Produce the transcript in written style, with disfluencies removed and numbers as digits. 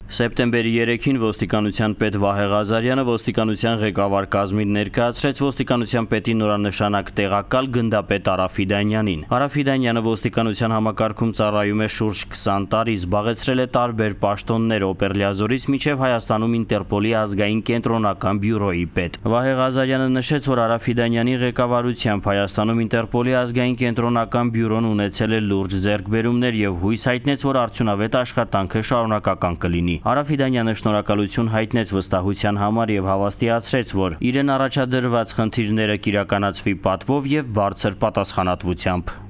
Սեպտեմբերի 3-ին ոստիկանության պետ Վահե Ղազարյանը ոստիկանության ղեկավար կազմին ներկայացրեց ոստիկանության պետի նորանշանակ տեղակալ գնդապետ Արաֆի Դանյանին։ Արաֆի Դանյանը ոստիկանության համակարգում ծառայում է շուրջ 20 տարի, զբաղեցրել է տարբեր պաշտոններ Օպերլիազորից մինչև Հայաստանում Ինտերպոլի ազգային կենտրոնական բյուրոյի պետ։ Վահե Ղազարյանը նշեց, որ Արաֆի Դանյանի ղեկավարությամբ Հայաստանում Ինտերպոլի ազգային կենտրոնական բյուրոն ունեցել է լուրջ ձեռքբերումներ եւ հույս հայտնեց, որ արդյունավետ աշխատանքը շարունակական կլինի։ Արաֆի Դանյանը շնորհակալություն հայտնեց վստահության համար եւ հավաստիացրեց, որ իրեն առաջադրված խնդիրները կիրականացվի պատվով եւ բարձր պատասխանատվությամբ։